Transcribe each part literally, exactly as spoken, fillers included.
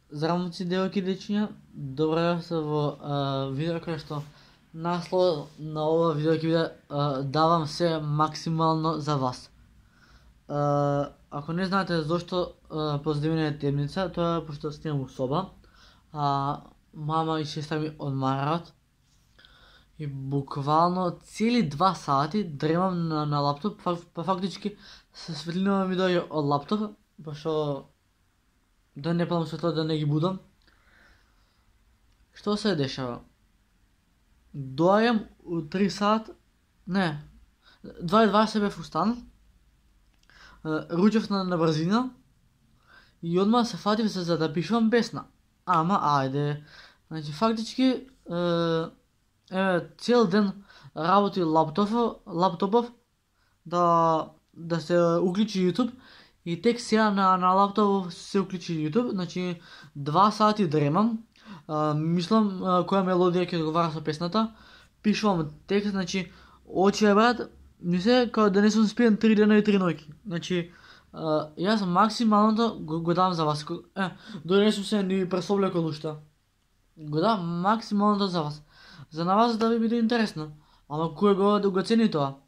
Здравоци, девојки и дечиња, добро дојавте во а, видео кај што наслов на ова видео ќе биде а, давам се максимално за вас. А, ако не знаете зошто позадивина е темница, тоа е пошто снимам у соба, а мама и сестра ми одмарат и буквално цели два сати дремам на, на лаптоп, па фактички светлина ми доаѓа од лаптоп, пошто да не палам светло, да не ги будам. Што се дешава? Доаѓам у три сат, не, два и дваесет бев устан, ручев на, на брзина и одма се фатив за, за да пишувам песна. Ама, ајде, значи фактички, еве, цел ден работи лаптопов, лаптопов да, да се уклучи YouTube и тек сега на, на лаптопов се уклучи YouTube, значи два сати дремам, а, мислам а, која мелодија ќе одговара со песната, пишувам текст, значи очи брат, ми се као да не сум спиен три дена и три ноќи. Значи а, јас максималното го, го дам за вас. Е, дори не сум се ни пресовлекол уште. Го дам максималното за вас. За на вас да ви биде интересно. Ама кој го да го цени тоа?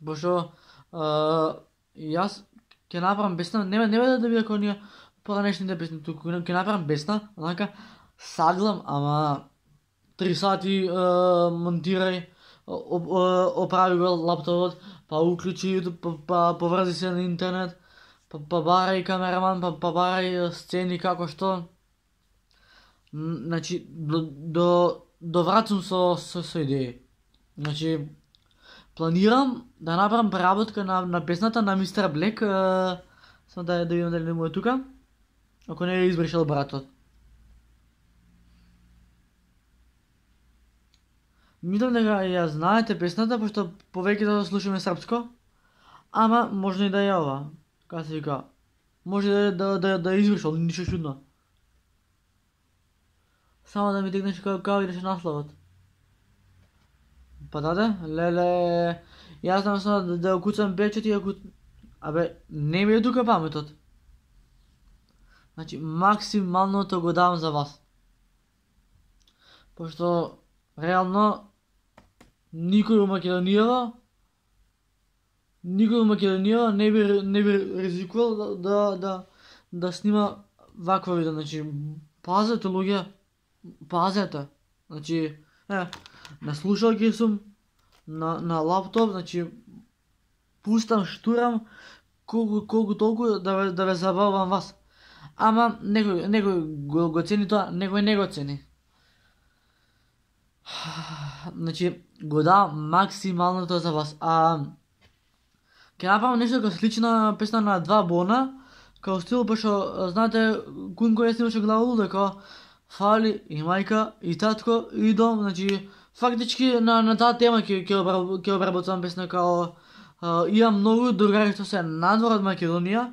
Пошто јас ќе направам песна, не не да биде како ние поранешните песни, туку ќе направам песна, онака саглам, ама три сати монтирај, оправи го лаптопот, па уклучи YouTube, па, па поврзи се на интернет, па, па барај камераман, па, па барај сцени како што. Значи до до доврацам со со, со идеи. Значи планирам да направам преработка на, на песната на мистер Блек, само да, да видам дали му е тука, ако не е избришал братот. Мислам дека ја знаете песната, пошто повеќето да слушаме српско, ама може и да е ова, како се вика, може да да да, да е избришал, ништо чудно. Само да ми текнеш како како идеше насловот. Па даде, леле, јас знам само да, да куцам печат и ако... Абе, не ми е тука паметот. Значи, максималното го давам за вас. Пошто, реално, никој у Македонијава, никој у Македонијава не би, не би ризикувал да, да, да, да снима ваква видео. Значи, пазете луѓе, пазете. Значи, е, на слушалки сум, на, на лаптоп, значи пустам, штурам, колку, колку толку да ве, да ве забавам вас. Ама некој, некој го, го цени тоа, некој не го цени. Значи, го давам максималното за вас. А ќе направам нешто како слична песна на два Бона, као стил, пошто знаете кун кој снимаше главолу, дека фали и мајка, и татко, и дом, значи фактички на, на таа тема ќе ќе обработувам песна, као а, имам многу другари што се надвор од Македонија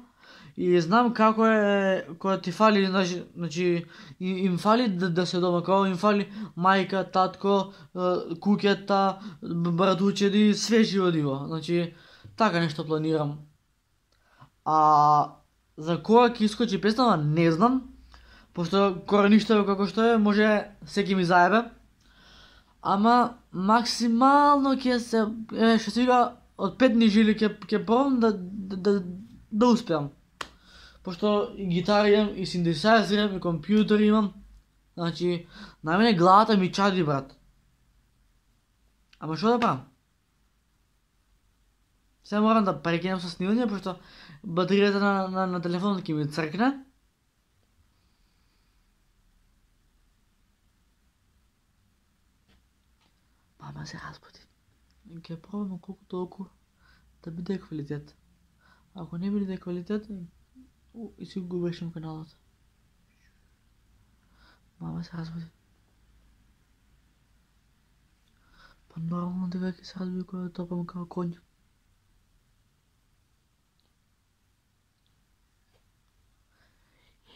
и знам како е кога ти фали, значи им фали да, да се дома, као им фали мајка, татко, куќата, братучеди, све живодиво. Значи така нешто планирам. А за кога ќе искочи песнава не знам, пошто кореништо како што е, може секи ми заебе. Ама максимално ќе се, е, што се вика, од пет жили ќе ќе пробам да да, да да успеам. Пошто и гитара имам, и синтесајзер имам, и компјутер имам. Значи, на мене главата ми чади, брат. Ама што да правам? Сега морам да прекинам со снимање, пошто батеријата на, на, на телефонот ќе ми цркне. Мама се разбуди. Ќе пробам колку толку да биде квалитет. Ако не биде квалитет, и си го губешам каналот. Мама се разбуди. Па нормално дека ќе се разбуди кога да топам како конј.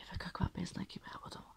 Еве каква песна ќе преработам.